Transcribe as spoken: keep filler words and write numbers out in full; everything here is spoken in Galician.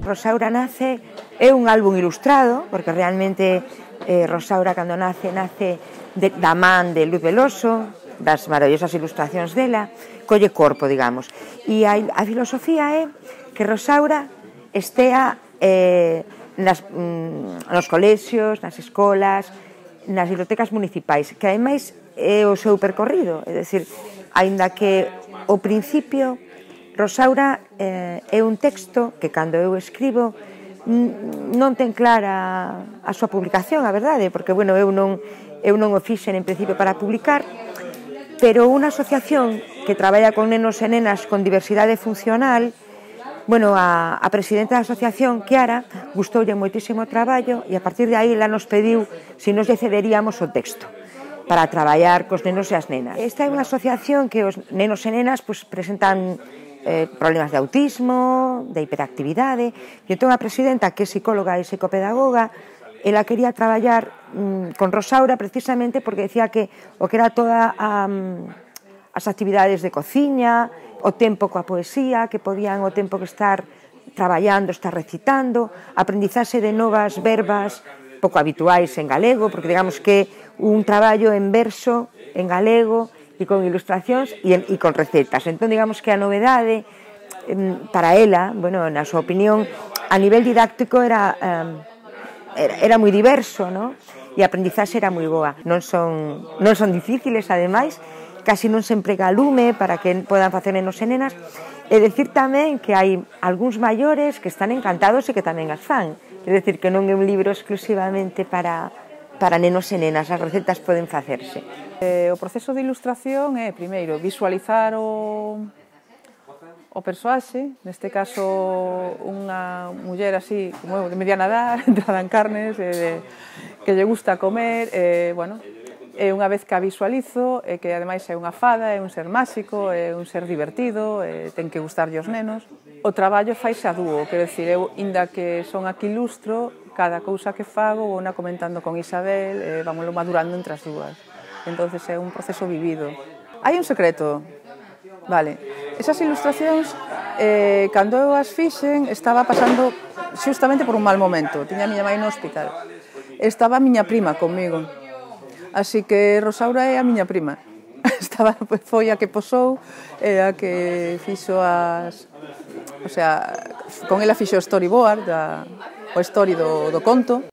Rosaura nace, é un álbum ilustrado, porque realmente eh, Rosaura cando nace, nace de, da man de Luz Veloso, das maravillosas ilustracións dela, colle corpo, digamos. E a, a filosofía é que Rosaura estea eh, nas, mm, nos colexios, nas escolas, nas bibliotecas municipais, que ademais é o seu percorrido, é dicir, aínda que ao principio Rosaura eh, é un texto que cando eu escribo non ten clara a súa publicación, a verdade, porque bueno, eu non, eu non o fixen en principio para publicar, pero unha asociación que traballa con nenos e nenas con diversidade funcional, bueno, a, a presidenta da asociación, Kiara, gustoulle moitísimo o traballo e a partir de aí ela nos pediu se nos lle cederíamos o texto para traballar cos nenos e as nenas. Esta é unha asociación que os nenos e nenas pues, presentan eh, problemas de autismo, de hiperactividade, e entón a presidenta, que é psicóloga e psicopedagoga, ela quería traballar mm, con Rosaura precisamente porque decía que o que era toda a, um, as actividades de cociña, o tempo coa poesía, que podían o tempo que estar traballando, estar recitando, aprendizaxe de novas verbas pouco habituais en galego, porque digamos que un traballo en verso, en galego, e con ilustracións e, e con recetas. Entón, digamos que a novedade, para ela, bueno, na súa opinión, a nivel didáctico era, era, era moi diverso, ¿no? E a aprendizaxe era moi boa. Non son, non son difíciles, ademais, casi non se emprega lume para que podan facer nenos e nenas. E decir tamén que hai algúns maiores que están encantados e que tamén as fan. É dicir, que non é un libro exclusivamente para, para nenos e nenas, as recetas poden facerse. Eh, o proceso de ilustración é, primeiro, visualizar o, o persoaxe, neste caso unha muller así, como eu, de mediana edad, entrada en carnes, eh, de, que lle gusta comer, eh, bueno, e unha vez que a visualizo, e que ademais é unha fada, é un ser máxico, é un ser divertido, e ten que gustarlle aos nenos, o traballo faise a dúo, quero dicir, eu, inda que son aquí ilustro, cada cousa que fago, vou na comentando con Isabel, e vámoslo madurando entre as dúas. Entonces é un proceso vivido. Hai un secreto, vale, esas ilustracións, eh, cando eu as fixen, estaba pasando xustamente por un mal momento, tiña a miña mãe no hospital, estaba a miña prima conmigo, así que Rosaura é a miña prima. Estaba, foi a que posou, e a que fixo as... O sea, con ela fixo o storyboard, da, o story do, do conto.